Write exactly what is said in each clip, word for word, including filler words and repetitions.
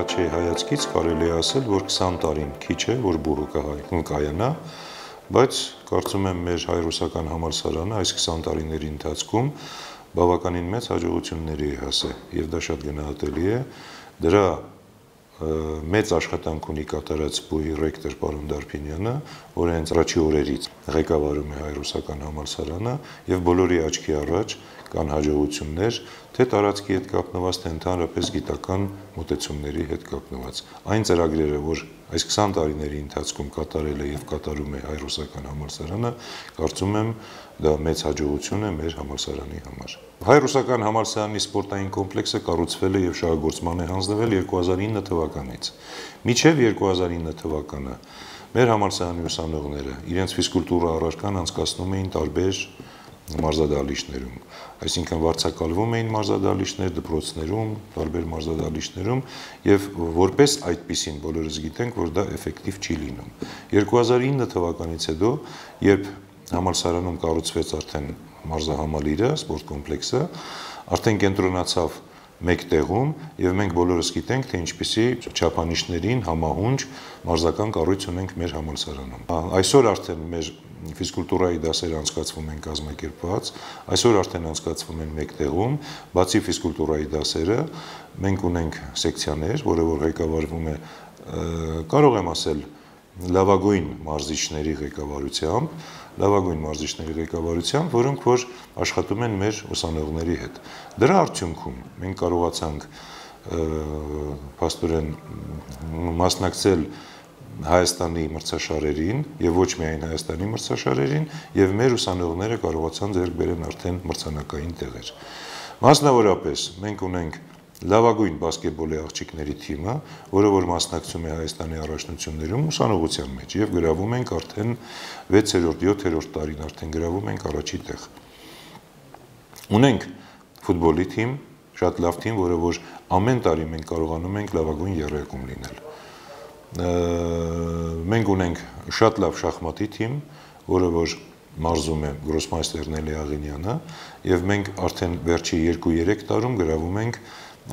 առաջի հայացքից կարելի է ասել, որ քսան տարին քիչ է, որ բուռը կայանա, բայց կարծում եմ մեր հայ-ռուսական համալսարանը այս քսան տարիների ընթացքում բավականին մեծ հաջողությունների է հասել, եւ դա շատ գնահատելի է։ Դրա մեծ աշխատանք ունի կատարած բուհի ռեկտոր պարոն Դարբինյանը, որը հենց առաջի օրերից ղեկավարում է հայ-ռուսական համալսարանը, եւ բոլորի աչքի առաջ կան հաջողություններ, թե տարածքի հետ կապնված, թե ընդհանրապես գիտական մոտեցումների հետ կապնված։ Այն ծրագրերը, որ այս քսան տարիների ընթացքում կատարել է եւ կատարում է հայ-ռուսական համալսարանը, կարծում եմ դա մեծ հաջողություն է մեր համալսարանի համար։ Հայ-ռուսական համալսարանի սպորտային կոմպլեքսը կառուցվել է եւ շահագործման է հանձնվել երկու հազար ինը թվականից։ Մինչեւ երկու հազար ինը թվականը մեր համալսարանի ուսանողները իրենց ֆիզկուլտուրա առարկան անցկացնում էին տարբեր մարզադահլիճներում, այսինքն վարձակալվում էին մարզադահլիճներ, դպրոցներում, տարբեր մարզադահլիճներում եւ որպես այդպիսին բոլորս գիտենք, որ դա էֆեկտիվ չի լինում։ երկու հազար ինը թվականից հետո, երբ համալսարանում կառուցվեց արդեն մարզահամալիրը, սպորտ կոմպլեքսը, արդեն կենտրոնացավ մեկ տեղում եւ մենք բոլորս գիտենք, թե ինչպիսի չափանիշներին համահունչ մարզական կառույց ունենք մեր համալսարանում։ Այսօր արդեն մեր ֆիզկուլտուրայի դասերը անցկացվում են կազմակերպված, այսօր արդեն անցկացվում են մեկ տեղում, բացի ֆիզկուլտուրայի դասերը, մենք ունենք սեկցիաներ, որը որ ղեկավարվում է, կարող եմ ասել, լավագույն մարզիչների ղեկավարությամբ, լավագույն մարզիչների ղեկավարությամբ, որոնք որ աշխատում են մեր ուսանողների հետ։ Դրա արդյունքում մենք կարողացանք փաստորեն մասնակցել Հայաստանի մրցաշարերին եւ ոչ միայն Հայաստանի մրցաշարերին եւ մեր ուսանողները կարողացան ձեռք բերեն արդեն մրցանակային տեղեր։ Մասնավորապես մենք ունենք լավագույն բասկետբոլի աղջիկների թիմը, որը որ մասնակցում է Հայաստանի առաջնություններում ուսանողության մեջ եւ գրավում ենք արդեն վեցերորդ, յոթերորդ տարին արդեն գրավում ենք առաջի տեղ։ Ունենք ֆուտբոլի թիմ, շատ լավ թիմ, որը որ ամեն տարի մենք կարողանում ենք լավագույն եռյակում լինել։ Մենք ունենք շատ լավ շախմատի թիմ, որը որ մարզում է գրոսմայստեր Նելի Աղինյանը, եւ մենք արդեն վերջի երկու-երեք տարում գրավում ենք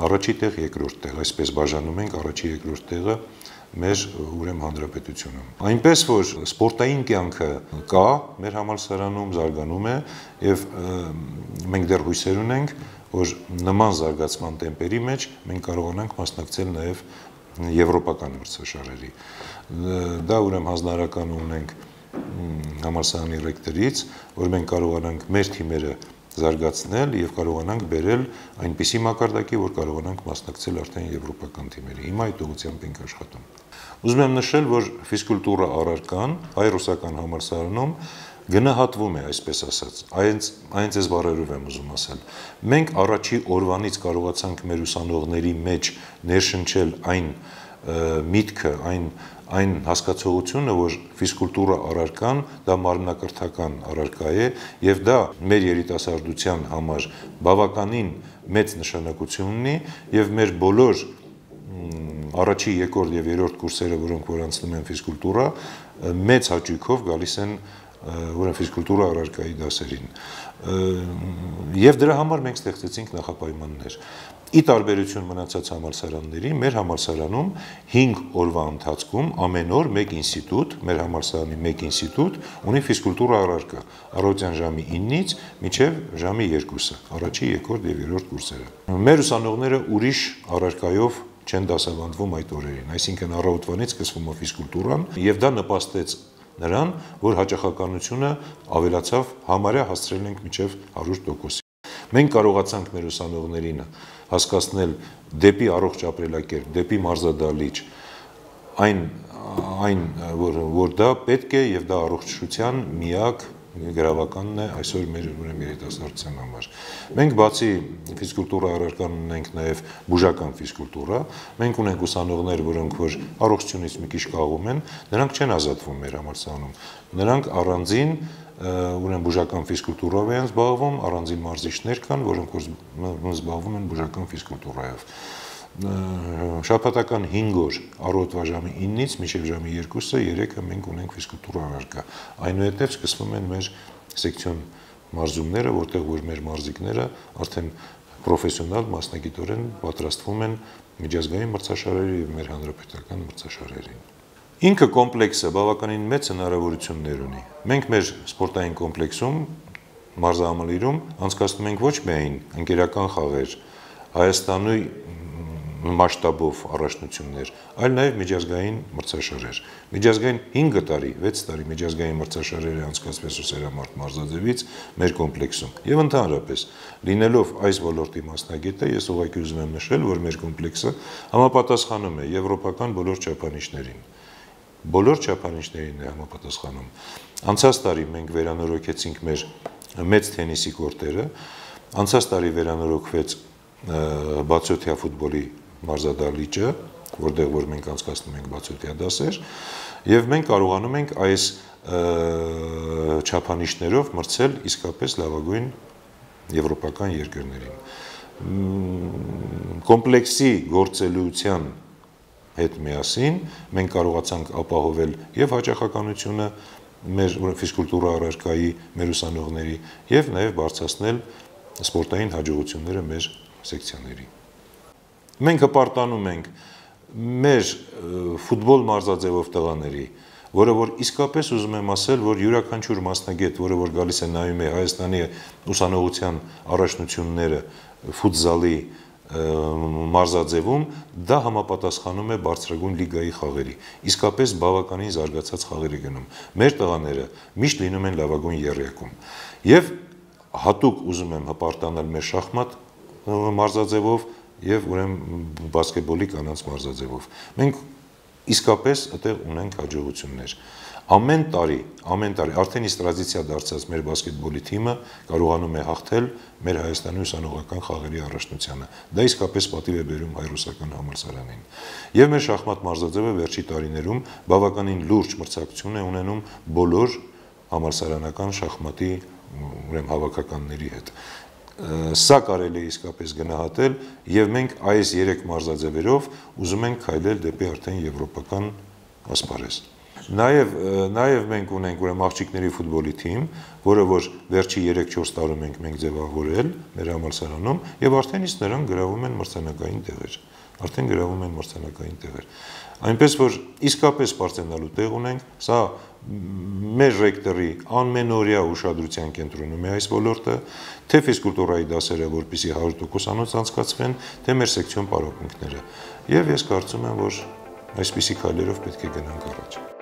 առաջի տեղ, երկրորդ տեղ, այսպես բաժանում ենք առաջի երկրորդ տեղը մեր ուրեմն հանրապետությունում։ Այնպես որ սպորտային կյանքը կա մեր համալսարանում, զարգանում է եւ մենք դեռ հույսեր ունենք, որ նման զարգացման տեմպերի մեջ մենք կարողանանք մասնակցել նաեւ եվրոպական մրցաշարերի։ Դա ուրեմն հանձնարարական ունենք համալսարանի ռեկտորից, որ մենք կարողանանք մեր թիմերը զարգացնել եւ կարողանանք բերել այնպիսի մակարդակի, որ կարողանանք մասնակցել արդեն եվրոպական թիմերի։ Հիմա այդ ուղղությամբ ենք աշխատում։ Ուզում եմ նշել, որ ֆիզկուլտուրա առարկան հայ-ռուսական համալսարանում գնահատվում է, այսպես ասած, այնց այնց էս բառերով եմ ուզում ասել։ Մենք առաջի օրվանից կարողացանք մեր ուսանողների մեջ ներշնչել այն միտքը, այն այն հասկացողությունը, որ ֆիզկուլտուրա առարկան դա մարմնակրթական առարկա է եւ դա մեր երիտասարդության համար բավականին մեծ նշանակություն ունի եւ մեր բոլոր առաջի, երկրորդ եւ երրորդ կուրսերը, որոնք որ անցնում են ֆիզկուլտուրա, մեծ հաճույքով գալիս են ուրեմն ֆիզկուլտուրա առարկայի դասերին։ Եվ դրա համար մենք ստեղծեցինք նախապայմաններ։ Ի տարբերություն մնացած համալսարանների, մեր համալսարանում հինգ օրվա ընթացքում ամեն օր մեկ ինստիտուտ, մեր համալսարանի մեկ ինստիտուտ ունի ֆիզկուլտուրա առարկա, առավոտյան ժամի ինից մինչև ժամի երկուսը, առաջի, երկրորդ եւ երրորդ կուրսերը։ Մեր ուսանողները ուրիշ առարկայով չեն դասավանդվում այդ օրերին, այսինքն առավոտվանից սկսվում է ֆիզկուլտուրան եւ դա նպաստեց նրան, որ հաճախականությունը ավելացավ, համարյա հասցրել ենք մինչև հարյուր տոկոս։ Մենք կարողացանք մեր ուսանողներին հասկացնել դեպի առողջ ապրելակերպ, դեպի մարզադահլիճ, այն այն որ որ դա պետք է եւ դա առողջության միակ գրավականն է այսօր մեր ուրեմն երիտասարդության համար։ Մենք բացի ֆիզկուլտուրա առարկան ունենք նաեւ բուժական ֆիզկուլտուրա, մենք ունենք ուսանողներ, որոնք որ առողջությունից մի քիչ կաղում են, նրանք չեն ազատվում մեր համալսարանում։ Նրանք առանձին ուրեմն բուժական ֆիզկուլտուրով են զբաղվում, առանձին մարզիչներ կան, որոնք որ զբաղվում են բուժական ֆիզկուլտուրայով։ Շաբաթական հինգ օր առօրվա ժամի ինից մինչև ժամի երկուսը երեքը մենք ունենք ֆիզկուլտուրա առարկա։ Այնուհետև սկսվում են մեր սեկցիոն մարզումները, որտեղ որ մեր մարզիկները արդեն պրոֆեսիոնալ մասնագիտորեն պատրաստվում են միջազգային մրցաշարերի եւ մեր հանրապետական մրցաշարերին։ Ինքը կոմպլեքսը բավականին մեծ հնարավորություններ ունի։ Մենք մեր սպորտային կոմպլեքսում մարզահամալիրում անցկացնում ենք ոչ միայն ընկերական խաղեր, Հայաստանի մասշտաբով առաջնություններ, այլ նաև միջազգային մրցաշարեր։ Միջազգային հինգ տարի, վեց տարի միջազգային մրցաշարերը անցկացվեց Սերամարտ մարզաձևից մեր կոմպլեքսում։ Եվ ընդհանրապես, լինելով այս ոլորտի մասնագետը, ես ուղղակի ուզում եմ նշել, որ մեր կոմպլեքսը համապատասխանում է եվրոպական բոլոր չափանիշներին։ Բոլոր չափանիշներին է համապատասխանում։ Անցած տարի մենք վերանորոգեցինք մեր մեծ թենիսի կորտերը, անցած տարի վերանորոգվեց բացօթյա ֆուտբոլի մարզադահլիճը, որտեղ որ մենք անցկացնում ենք բացօթյա դասեր, եւ մենք կարողանում ենք այս չափանիշներով մրցել իսկապես լավագույն եվրոպական երկրներին։ Կոմպլեքսի գործելիության հետ միասին մենք կարողացանք ապահովել եւ հաճախականությունը մեր ֆիզկուլտուրա առարկայի, մեր ուսանողների եւ նաեւ բարձրացնել սպորտային հաջողությունները մեր սեկցիաների։ Մենք հպարտանում ենք մեր ֆուտբոլ մարզաձևով տղաների, որը որ իսկապես ուզում եմ ասել, որ յուրաքանչյուր մասնագետ, որը որ գալիս է նայում է Հայաստանի ուսանողության առաջնությունները ֆուտզալի մարզաձևում, դա համապատասխանում է բարձրագույն լիգայի խաղերի։ Իսկապես բավականին զարգացած խաղեր է գնում։ Մեր տղաները միշտ լինում են լավագույն եռյակում։ Եվ հատուկ ուզում եմ հպարտանալ մեր շախմատ մարզաձևով եւ ուրեմն բասկետբոլի կանանց մարզաձևով։ Մենք իսկապես այդտեղ ունենք հաջողություններ։ Ամեն տարի, ամեն տարի արդեն իսկ տրադիցիա դարձած մեր բասկետբոլի թիմը կարողանում է հաղթել մեր Հայաստանի ուսանողական խաղերի առաջնությանը։ Դա իսկապես պատիվ է բերում հայ-ռուսական համալսարանին։ Եվ մեր շախմատ մարզաձևը վերջի տարիներում բավականին լուրջ մրցակցություն է ունենում բոլոր համալսարանական շախմատի ուրեմն հավաքականների հետ։ Սա կարելի է իսկապես գնահատել եւ մենք այս երեք մարզաձևերով ուզում ենք քայլել դեպի արդեն եվրոպական ասպարեզ։ Նաեւ նաեւ մենք ունենք ուրեմն աղջիկների ֆուտբոլի թիմ, որը որ վերջի երեք-չորս տարում ենք մենք ձևավորել մեր համալսարանում եւ արդեն իսկ նրանք գրավում են մրցանակային տեղեր։ Արդեն գրավում են մրցանակային տեղեր։ Այնպես որ իսկապես բարձրանալու տեղ ունենք, սա մեր ռեկտորի անմենօրյա ուշադրության կենտրոնում է այս ոլորտը, թե ֆիզկուլտուրայի դասերը, որպեսզի հարյուր տոկոս անցկացվեն, թե մեր սեկցիոն պարապմունքները։ Եվ ես կարծում եմ, որ այսպիսի քայլերով պետք է գնանք առաջ։